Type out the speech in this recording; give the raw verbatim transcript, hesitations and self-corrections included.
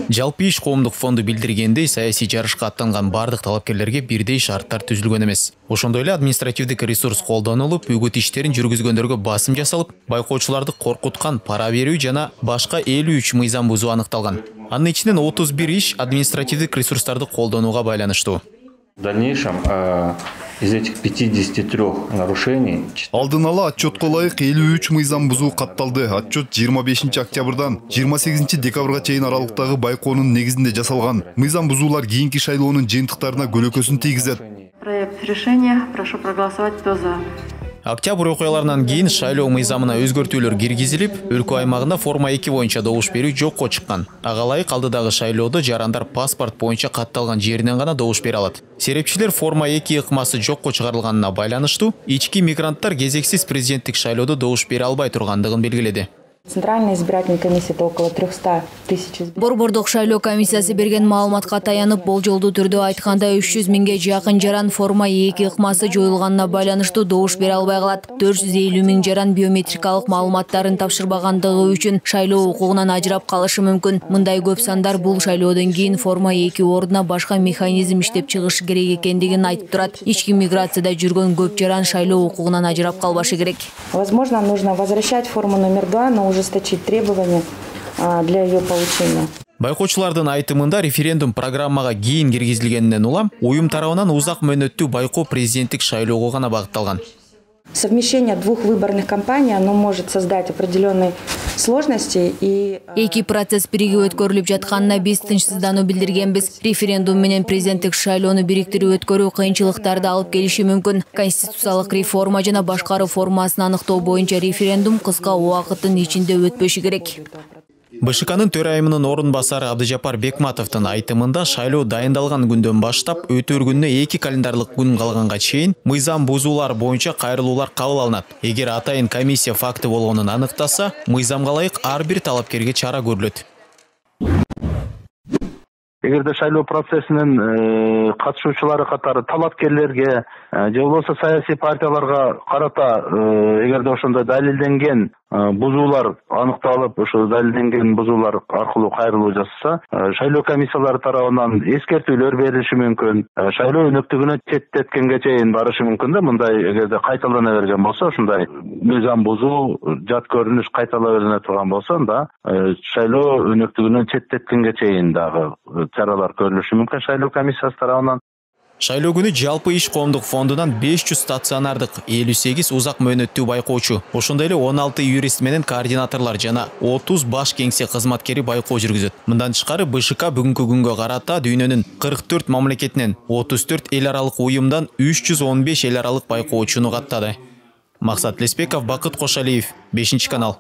Жалпы иш коомдук фонду билдиргендей, саясий жарышка аттанган бардык талапкерлерге бирдей шарттар түзүлгөн эмес. Ошондой эле административдик ресурс колдонулуп, үгүт иштерин жүргүзгөндөргө басым жасалып, байкоочуларды коркуткан, пара берүү жана башка элүү үч мыйзам бузуу аныкталган. Анын ичинен отуз бир иш административдик ресурстарды колдонууга байланыштуу. В дальнейшем э, из этих пятидесяти трёх нарушений алдын ала отчетко ылайык элүү үч мыйзам бузуу катталды. Отчет жыйырма бешинчи октябрдан жыйырма сегизинчи декабрга чейин аралыктагы байкоонун негизинде жасалган. Мыйзам бузуулар кийинки шайлоонун жыйынтыктарына көлөкөсүн тийгизет. Проект решения. Прошу проголосовать, кто за. Октябрь окуяларынан кийин шайлоо мыйзамына өзгөртүүлөр киргизилип, өлкө аймагында форма эки боюнча добуш берүү жокко чыккан. Ага ылайык алдыдагы шайлоодо жарандар паспорт боюнча катталган жеринен гана добуш бере алат. Серепчилер форма эки ыкмасы жокко чыгарылганына байланыштуу ички мигранттар кезексиз президенттик шайлоодо добуш бере албай тургандыгын белгиледи. Центральная избирательная комиссия около трёхсот тысяч. Борбордук шайлоо комиссиясы берген маалыматка таянып, болжолдуу түрдө айтканда үч жүз миңге жакын жаран форма эки ыкмасы жоюлганына байланыштуу добуш бере албай калат. төрт жүз элүү миң жаран биометрикалык маалыматтарын тапшырбагандыгы үчүн шайлоо укугунан ажырап калышы мүмкүн. Мындай көп сандар бул шайлоодон кийин форма эки ордуна башка механизм иштеп чыгыш керек экендигин айтып турат. Ички миграцияда жүргөн көп жаран шайлоо укугунан ажырап калбашы керек. Возможно, нужно возвращать форму номер два, но ужесточить требования для ее получения. Байкоочулардын айтымында референдум программага кийин киргизилгенинен улам уюм тарабынан узак мөөнөттүү байкоо президенттик шайлоого гана багытталган. Совмещение двух выборных кампаний, оно может создать определенные сложности и эки процесс биригип өткөрүлүп жатканына биз тынчсыздануу билдиргенбиз. Референдум менен президенттик шайлоону бириктирип өткөрүү кыйынчылыктарды алып келиши мүмкүн. Конституциялык реформа жана башкаруу формасын аныктоо боюнча референдум кыска убакыттын ичинде өтпөшү керек. БШКнын төрайымынын орун басары Абдыжапар Бекматовдун айтымында шайлоо дайындалган күндөн баштап өтөр күнүнө эки календарлык күн калганга чейин мыйзам бузуулар боюнча кайрылуулар кабыл алынат. Эгер атайын комиссия факты болгонун аныктаса, мыйзамга ылайык ар бир талапкерге чара көрүлөт. Эгерде шайлоо процессинин катышуучулары катары талапкерлерге же болбосо саясий партияларга карата эгерде ошондой далилденген бузуулар аныкталып, ошо далилденген бузуулар аркылуу кайрылуу жасаса, шайлоо комиссиялары тарабынан эскертүүлөр берилиши мүмкүн. Шайлоо өнөктүгүнө четтеткенге чейин барышы мүмкүн да, мындай эгерде кайталана берген болсо, ушундай мыйзам бузуу, жат көрүнүш кайтала берине турган болсо, анда шайлоо өнөктүгүнөн четтеткенге чейин дагы чаралар көрүлүшү мүмкүн шайлоо комиссиясы тарабынан. Шайлоо күнү жалпы иш коомдук фондунан беш жүз стационардык, элүү сегиз узак мөөнөттүү байкоочу, ошондой эле он алты юрист менен координаторлор жана отуз баш кеңсе кызматкери байкоо жүргүзөт. Мындан тышкары БШК бүгүнкү күнгө карата дүйнөнүн кырк төрт мамлекетинен отуз төрт эл аралык уюмдан үч жүз он беш эл аралык байкоочуну каттады. Максат Леспеков, Бакыт Кошалиев, бешинчи канал.